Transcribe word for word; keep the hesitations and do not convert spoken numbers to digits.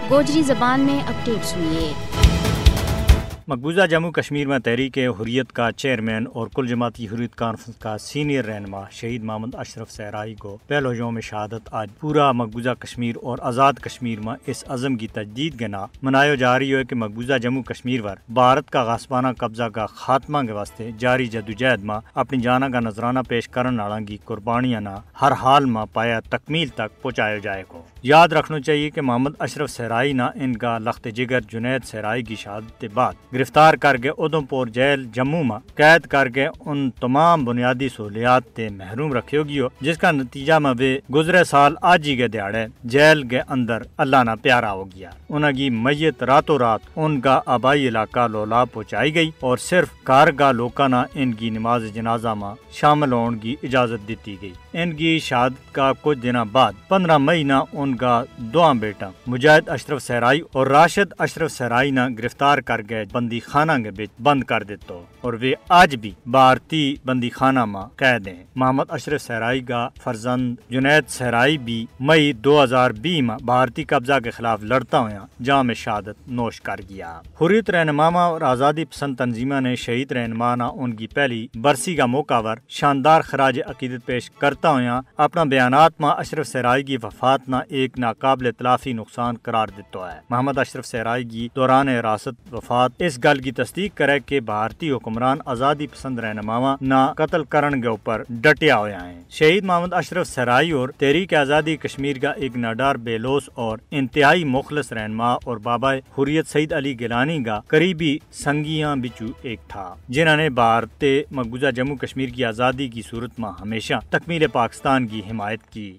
گوجری زبان میں اپڈیٹس ہوئی ہے۔ مقبوضہ جموں کشمیر میں تحریک حریت کا چیئرمین اور کل جماعتی حریت کانفرنس کا سینئر رہنما شہید محمد اشرف صحرائی کو پہلو یوم شہادت آج پورا مقبوضہ کشمیر اور آزاد کشمیر میں اس عزم کی تجدید کے نام منایو جا رہی ہوئے کہ مقبوضہ جموں کشمیر پر بھارت کا غاسبانہ قبضہ کا خاتمہ کے واسطے جاری جدوجہد ما اپنی جانا کا نذرانہ پیش کرن آلاں کی قربانیاں نا ہر حال ما پایا تکمیل تک پہنچایو جائے کو۔ یاد رکھنو چاہیے کہ محمد اشرف صحرائی نا ان کا لخت جگر جنید صحرائی کی شہادت بعد گرفتار کر کے ادھم پور جیل جموں ما قید کر کے ان تمام بنیادی سہولیات تے محروم رکھیو گیو، جس کا نتیجہ ما ویہ گزرے سال آج ہی کے دھیاڑے جیل کے اندر اللہ نا پیارا ہو گیا۔ انہاں کی میت راتوں رات ان کا آبائی علاقہ لولا پہنچائی گئی اور صرف گھر کا لوکاں نا ان کی نماز جنازہ ما شامل ہون کی اجازت دتی گئی۔ ان کی شہادت کا کچھ دناں بعد پندرہ مئی نا ان کا دواں بیٹا مجاہد اشرف صحرائی اور راشد اشرف صحرائی نا گرفتار کر کے بندی خانہ کے بچ بند کر دیتو اور ویہ آج بھی بھارتی بندی خانہ ما قید ہیں۔ محمد اشرف صحرائی کا فرزند جنید صحرائی بھی مئی دو ہزار بیس ما بھارتی قبضہ کے خلاف لڑتا ہویا جام شہادت نوش کر گیا۔ حریت رہنماواں اور آزادی پسند تنظیماں نے شہید رہنما نا ان کی پہلی برسی کا موقع پر شاندار خراج عقیدت پیش کرتا ہویا اپنا بیانات ما اشرف صحرائی کی وفات نا ایک ناقابل تلافی نقصان قرار دیتا ہے۔ محمد اشرف صحرائی کی دوران حراست وفات اس گل کی تصدیق کرے کہ بھارتی حکمران آزادی پسند رہنماواں نا قتل کرن کے اپر ڈٹیا ہویا ہیں۔ شہید محمد اشرف صحرائی اور تحریک آزادی کشمیر کا ایک ناڈار بیلوس اور انتہائی مخلص رہنما اور بابا حریت سعید علی گیلانی کا قریبی سنگیاں بچو ایک تھا، جنہاں نے بھارت تے مقبوضہ جموں کشمیر کی آزادی کی صورت ما ہمیشہ تکمیل پاکستان کی حمایت کی۔